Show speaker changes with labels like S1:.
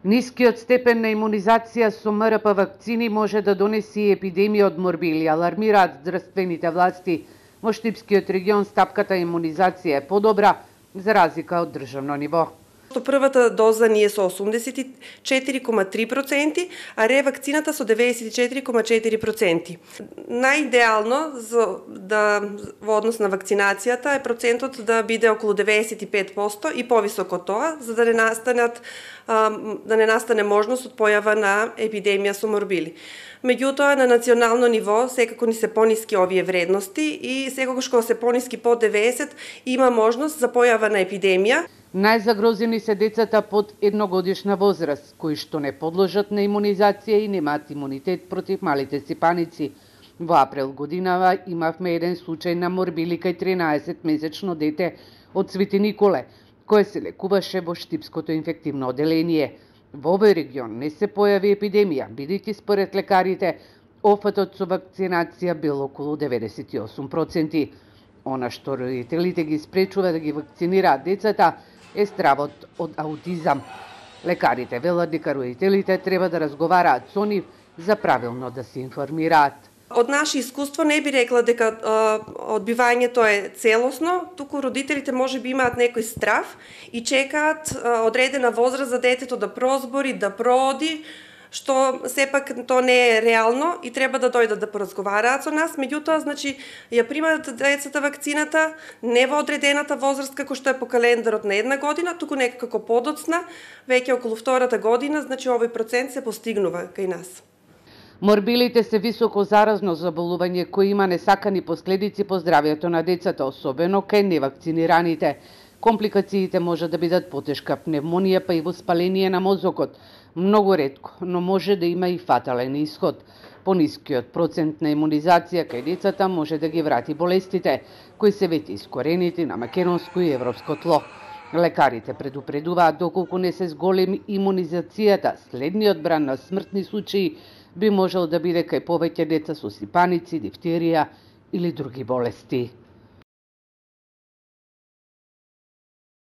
S1: Нискиот степен на имунизација со МРП вакцини може да донеси и епидемија од морбили, алармираат здравствените власти. Во Штипскиот регион стапката имунизација е подобра за разлика од државно ниво.
S2: Првата доза ни е со 84,3%, а ревакцината со 94,4%. Најидеално во однос на вакцинацијата е процентот да биде околу 95% и повисок од тоа, за да не настане можност од појава на епидемија со морбили. Меѓутоа, на национално ниво секако ни се пониски овие вредности и секогаш кога се пониски под 90 има можност за појава на епидемија.
S1: Најзагрозени се децата под едногодишна возраст, кои што не подложат на имунизација и немаат имунитет против малите сипаници. Во април годинава имавме еден случај на морбили кај 13-месечно дете од Свети Николе, кој се лекуваше во Штипското инфективно оделение. Во овој регион не се појави епидемија, бидејќи според лекарите, офатот со вакцинација бил околу 98%. Она што родителите ги спречува да ги вакцинираат децата е стравот од аутизам. Лекарите велат дека родителите треба да разговараат со нив за правилно да се информираат.
S2: Од наше искуство не би рекла дека одбивањето е целосно, туку родителите можеби имаат некој страв и чекаат одредена возраст за детето да прозбори, да прооди, што сепак тоа не е реално и треба да дојдат да поразговараат со нас. Меѓутоа, значи, ја примаат децата вакцината не во одредената возраст како што е по календарот на една година, туку некако подоцна, веќе околу втората година, значи овој процент се постигнува кај нас.
S1: Морбилите се високо заразно заболување кој има несакани последици по здравјето на децата, особено кај невакцинираните. Компликациите може да бидат потешка пневмонија па и воспаление на мозокот. Многу ретко, но може да има и фатален исход. Понискиот процент на имунизација кај децата може да ги врати болестите, кои се веќе искоренети на македонско и европско тло. Лекарите предупредуваат доколку не се зголеми имунизацијата, следниот бран на смртни случаи би можел да биде кај повеќе деца со сипаници, дифтерија или други болести.